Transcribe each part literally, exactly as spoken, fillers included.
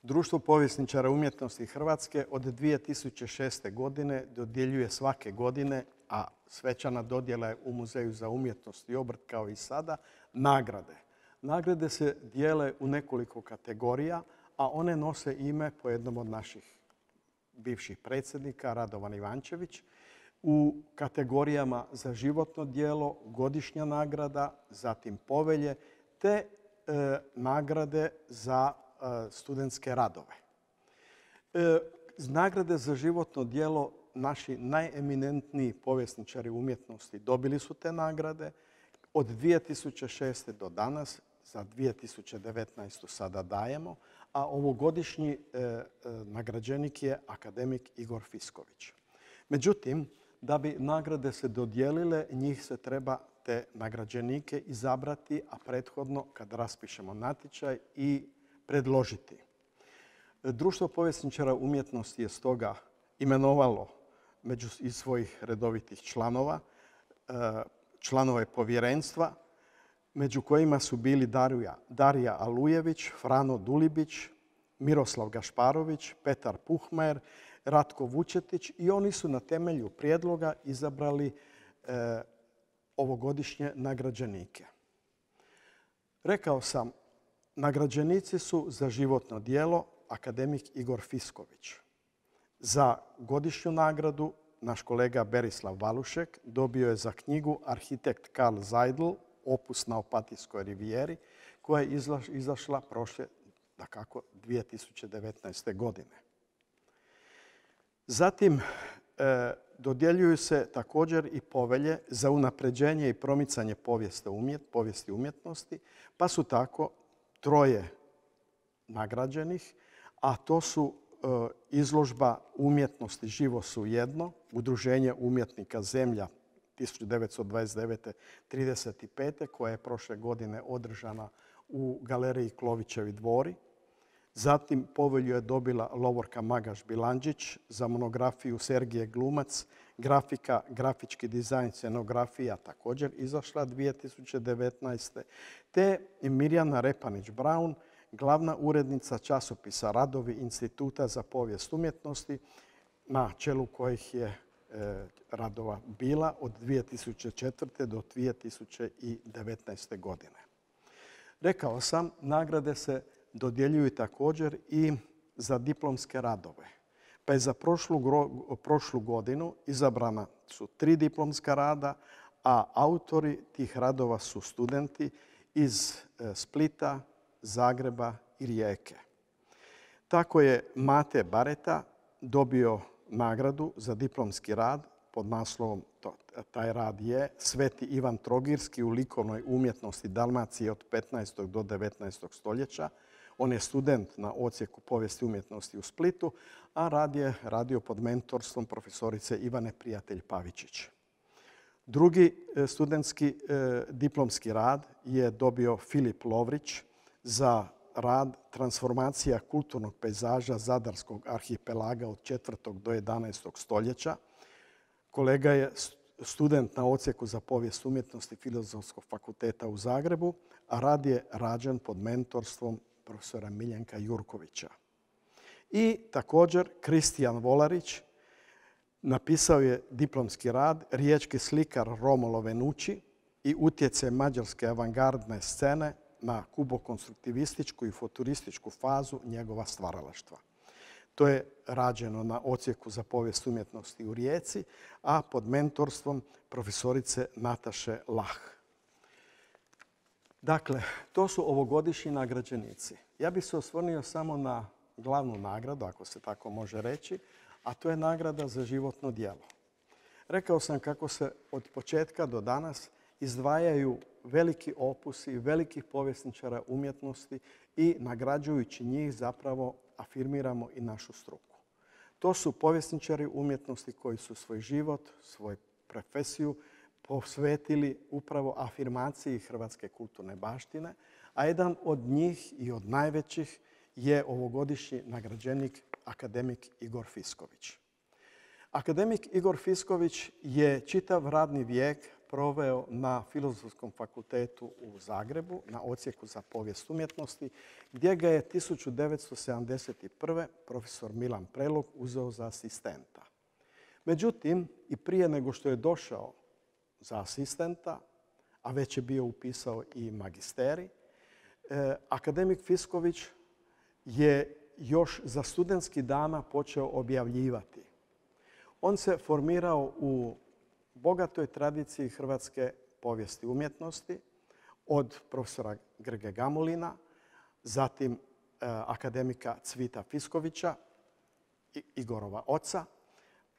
Društvo povjesničara umjetnosti Hrvatske od dvije tisuće šeste. godine dodjeljuje svake godine, a svečana dodjela je u Muzeju za umjetnost i obrt kao i sada, nagrade. Nagrade se dijele u nekoliko kategorija, a one nose ime po jednom od naših bivših predsjednika, Radovan Ivančević, u kategorijama za životno djelo, godišnja nagrada, zatim povelje, te e, nagrade za e, studentske radove. E, nagrade za životno djelo naši najeminentniji povjesničari umjetnosti dobili su te nagrade. Od dvije tisuće šeste. do danas, za dvije tisuće devetnaestu. sada dajemo, a ovogodišnji e, e, nagrađenik je akademik Igor Fisković. Međutim, da bi nagrade se dodijelile, njih se treba te nagrađenike izabrati, a prethodno kad raspišemo natječaj i predložiti. Društvo povjesničara umjetnosti je stoga imenovalo među iz svojih redovitih članova članove povjerenstva, među kojima su bili Darija, Darija Alujević, Frano Dulibić, Miroslav Gašparović, Petar Puhmajer, Ratko Vučetić i oni su na temelju prijedloga izabrali e, ovogodišnje nagrađenike. Rekao sam, nagrađenici su za životno djelo akademik Igor Fisković. Za godišnju nagradu naš kolega Berislav Valušek dobio je za knjigu arhitekt Karl Zeidl, opus na Opatijskoj rivijeri, koja je izašla prošle, dakako, dvije tisuće devetnaeste. godine. Zatim, e, dodjeljuju se također i povelje za unapređenje i promicanje povijesti, umjet, povijesti umjetnosti, pa su tako troje nagrađenih, a to su e, izložba umjetnosti Živo su jedno, Udruženje umjetnika Zemlja tisuću devetsto dvadeset devete. trideset pete. koja je prošle godine održana u galeriji Klovićevi dvori. Zatim povelju je dobila Lovorka Magaš-Bilandžić za monografiju Sergije Glumac, grafika, grafički dizajn, scenografija također izašla dvije tisuće devetnaeste. te Mirjana Repanić-Braun, glavna urednica časopisa Radovi Instituta za povijest umjetnosti, na čelu kojih je e, radova bila od dvije tisuće četvrte. do dvije tisuće devetnaeste. godine. Rekao sam, nagrade se dodjeljuju također i za diplomske radove. Pa je za prošlu, prošlu godinu izabrana su tri diplomska rada, a autori tih radova su studenti iz Splita, Zagreba i Rijeke. Tako je Mate Bareta dobio nagradu za diplomski rad pod naslovom, taj rad je Sveti Ivan Trogirski u likovnoj umjetnosti Dalmacije od petnaestog. do devetnaestog. stoljeća. On je student na odsjeku povijesti umjetnosti u Splitu, a rad je radio pod mentorstvom profesorice Ivane Prijatelj Pavičić. Drugi studentski eh, diplomski rad je dobio Filip Lovrić za rad Transformacija kulturnog pejzaža Zadarskog arhipelaga od četvrtog. do jedanaestog. stoljeća. Kolega je student na odsjeku za povijest umjetnosti Filozofskog fakulteta u Zagrebu, a rad je rađen pod mentorstvom profesora Miljenka Jurkovića. I također Kristijan Volarić napisao je diplomski rad Riječki slikar Romolo Venucci i utjecaj mađarske avangardne scene na kubokonstruktivističku i futurističku fazu njegova stvaralaštva. To je rađeno na odsjeku za povijest umjetnosti u Rijeci, a pod mentorstvom profesorice Nataše Lah. Dakle, to su ovogodišnji nagrađenici. Ja bih se osvrnio samo na glavnu nagradu, ako se tako može reći, a to je nagrada za životno djelo. Rekao sam kako se od početka do danas izdvajaju veliki opusi velikih povjesničara umjetnosti i nagrađujući njih zapravo afirmiramo i našu struku. To su povjesničari umjetnosti koji su svoj život, svoju profesiju posvetili upravo afirmaciji hrvatske kulturne baštine, a jedan od njih i od najvećih je ovogodišnji nagrađenik akademik Igor Fisković. Akademik Igor Fisković je čitav radni vijek proveo na Filozofskom fakultetu u Zagrebu, na odsjeku za povijest umjetnosti, gdje ga je tisuću devetsto sedamdeset prve profesor Milan Prelog uzeo za asistenta. Međutim, i prije nego što je došao za asistenta, a već je bio upisao i magisterij, akademik Fisković je još za studentskih dana počeo objavljivati. On se formirao u bogatoj tradiciji hrvatske povijesti umjetnosti od profesora Grge Gamulina, zatim akademika Cvita Fiskovića, Igorova oca,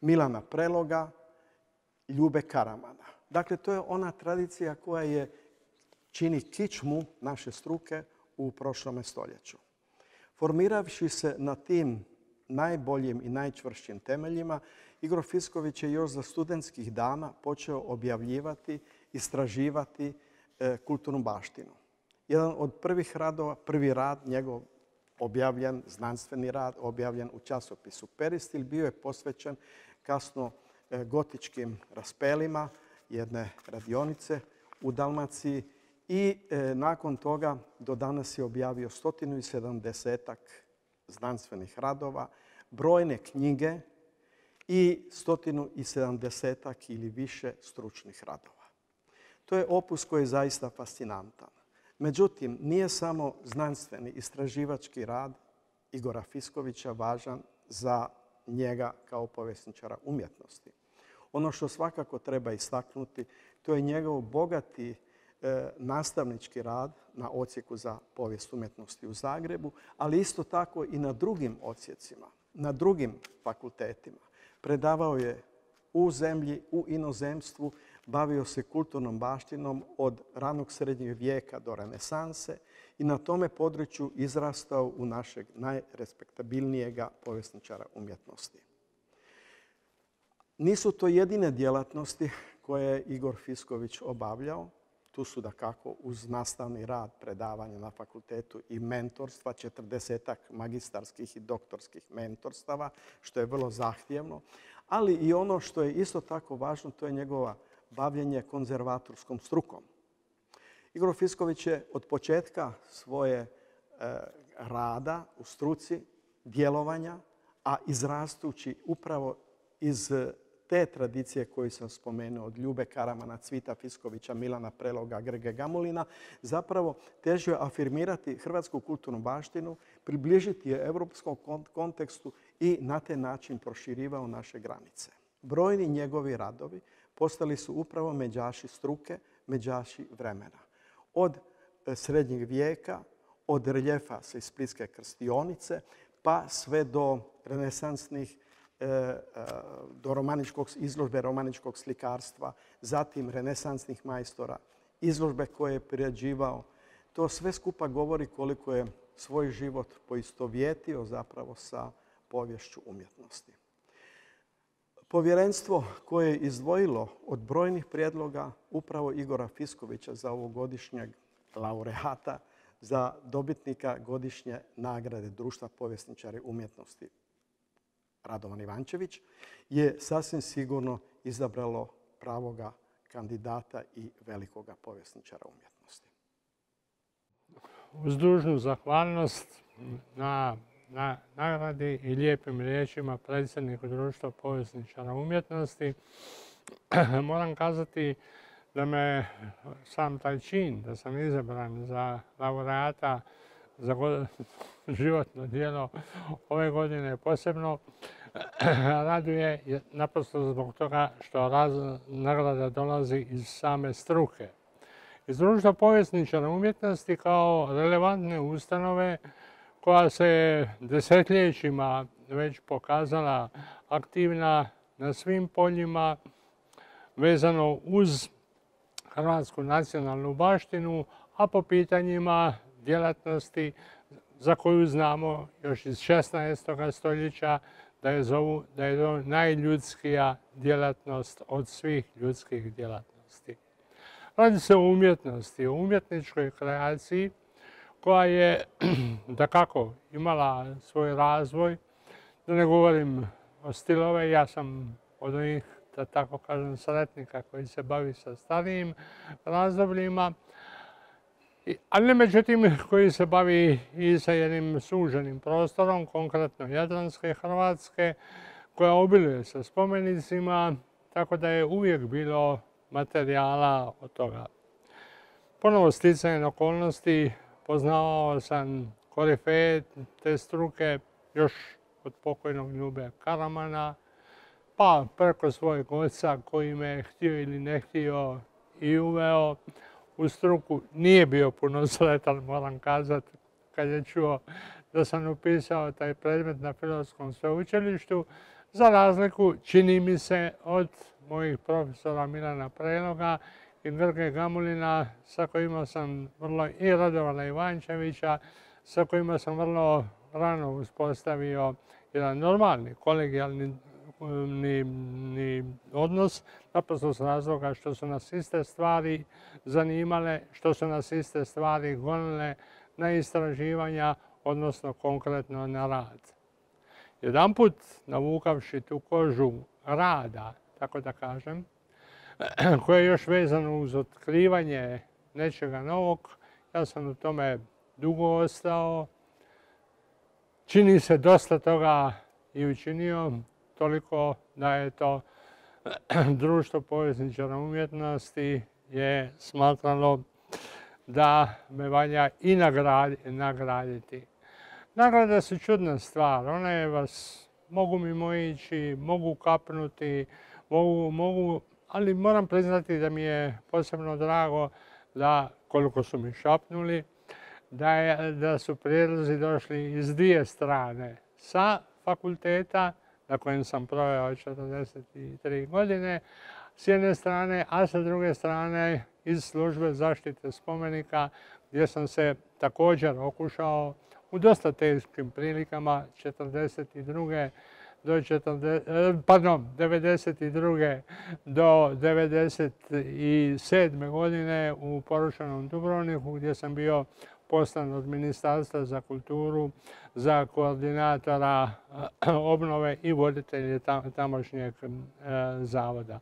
Milana Preloga, Ljube Karamana. Dakle, to je ona tradicija koja je čini kičmu naše struke u prošlome stoljeću. Formiravši se na tim najboljim i najčvršćim temeljima, Igor Fisković je još za studentskih dana počeo objavljivati, istraživati e, kulturnu baštinu. Jedan od prvih radova, prvi rad njegov objavljen, znanstveni rad, objavljen u časopisu Peristil, bio je posvećen kasno e, gotičkim raspelima jedne radionice u Dalmaciji i e, nakon toga do danas je objavio stotinu i sedamdesetak znanstvenih radova, brojne knjige i stotinu i sedamdesetak ili više stručnih radova. To je opus koji je zaista fascinantan. Međutim, nije samo znanstveni istraživački rad Igora Fiskovića važan za njega kao povjesničara umjetnosti. Ono što svakako treba istaknuti, to je njegov bogati e, nastavnički rad na odsjeku za povijest umjetnosti u Zagrebu, ali isto tako i na drugim odsjecima, na drugim fakultetima. Predavao je u zemlji, u inozemstvu, bavio se kulturnom baštinom od ranog srednjeg vijeka do renesanse i na tome području izrastao u našeg najrespektabilnijega povjesničara umjetnosti. Nisu to jedine djelatnosti koje je Igor Fisković obavljao. Tu su dakako uz nastavni rad, predavanja na fakultetu i mentorstva, četrdesetak magistarskih i doktorskih mentorstava, što je vrlo zahtjevno. Ali i ono što je isto tako važno, to je njegova bavljenje konzervatorskom strukom. Igor Fisković je od početka svoje e, rada u struci, djelovanja, a izrastući upravo iz te tradicije koju sam spomenuo od Ljube Karamana, Cvita Fiskovića, Milana Preloga, Grge Gamulina, zapravo težio afirmirati hrvatsku kulturnu baštinu, približiti je europskom kontekstu i na taj način proširivao naše granice. Brojni njegovi radovi postali su upravo međaši struke, međaši vremena. Od srednjeg vijeka, od reljefa sa Splitske krstionice, pa sve do renesansnih do romaničkog, izložbe romaničkog slikarstva, zatim renesansnih majstora, izložbe koje je priređivao. To sve skupa govori koliko je svoj život poistovjetio zapravo sa poviješću umjetnosti. Povjerenstvo koje je izdvojilo od brojnih prijedloga upravo Igora Fiskovića za ovogodišnjeg laureata, za dobitnika godišnje nagrade Društva povjesničara umjetnosti Radovan Ivančević, je sasvim sigurno izabralo pravoga kandidata i velikoga povjesničara umjetnosti. Uz dužnu zahvalnost na, na nagradi i lijepim riječima predsjedniku Društva povjesničara umjetnosti, moram kazati da me sam taj čin, da sam izabran za laureata za životno djelo ove godine posebno raduje naprosto zbog toga što nagrada dolazi iz same struke. Iz Društva povjesničara umjetnosti kao relevantne ustanove koja se desetljećima već pokazala aktivna na svim poljima vezano uz hrvatsku nacionalnu baštinu, a po pitanjima djelatnosti za koju znamo još iz šesnaestoga stoljeća da je zovu da je to najljudskija djelatnost od svih ljudskih djelatnosti. Radi se o umjetnosti, o umjetničkoj kreaciji koja je dakako imala svoj razvoj. Da ne govorim o stilove, ja sam od onih da tako kažem, sretnika koji se bavi sa starijim razdobljima, ali međutim koji se bavi i sa jednim suženim prostorom, konkretno Jadranske Hrvatske, koja obiluje sa spomenicima, tako da je uvijek bilo materijala od toga. Ponovo sticajem okolnosti poznavao sam korifeje te struke još od pokojnog Ljube Karamana, pa preko svojeg oca koji me je htio ili ne htio i uveo u struku. Nije bio puno sretan, moram kazati, kad je čuo da sam upisao taj predmet na Filozofskom sveučilištu, za razliku, čini mi se, od mojih profesora Milana Preloga i Grge Gamulina, sa kojima sam vrlo, i Radovana Ivančevića, sa kojima sam vrlo rano uspostavio jedan normalni, kolegijalni ni, ni odnos, naprosto s razloga što su nas iste stvari zanimale, što su nas iste stvari gonile na istraživanja, odnosno konkretno na rad. Jedanput, navukavši tu kožu rada, tako da kažem, koje je još vezano uz otkrivanje nečega novog, ja sam u tome dugo ostao. Čini se dosta toga i učinio, toliko da je to Društvo povjesničara umjetnosti je smatralo da me valja i nagraditi. Nagrade su čudna stvar, one vas mogu mimoići, mogu kapnuti, mogu, mogu, ali moram priznati da mi je posebno drago da, koliko su mi šapnuli, da, je, da su prijedlozi došli iz dvije strane. Sa fakulteta, na kojem sam proveo četrdeset tri godine, s jedne strane, a sa druge strane iz službe zaštite spomenika, gdje sam se također okušao u dosta teškim prilikama četrdeset druge do četrdeset, pardon, devedeset druge do devedeset sedme godine u porušenom Dubrovniku, gdje sam bio poslan od Ministarstva za kulturu za koordinatora obnove i voditelje tamošnjeg zavoda.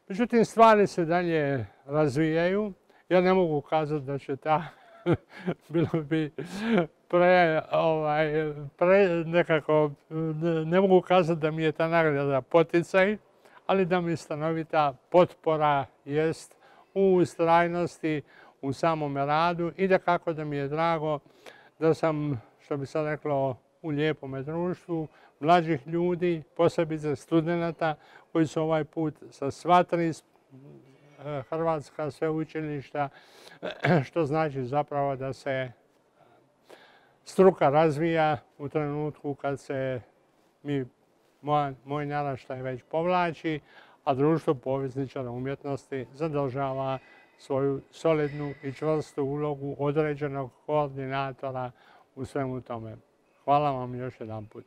Međutim, stvari se dalje razvijaju. Ja ne mogu kazati da će ta, bilo bi pre, ovaj, pre nekako, ne mogu kazati da mi je ta nagrada poticaj, ali da mi stanovita potpora jest u ustrajnosti, u samome radu i da kako da mi je drago da sam, što bi se reklo, u lijepome društvu mlađih ljudi, posebice studenata koji su ovaj put sa sva tri hrvatska sveučilišta, što znači zapravo da se struka razvija u trenutku kad se mi, moj, moj naraštaj već povlači, a Društvo povjesničara umjetnosti zadržava svoju solidnu i čvrstu ulogu određenog koordinatora u svemu tome. Hvala vam još jedan put.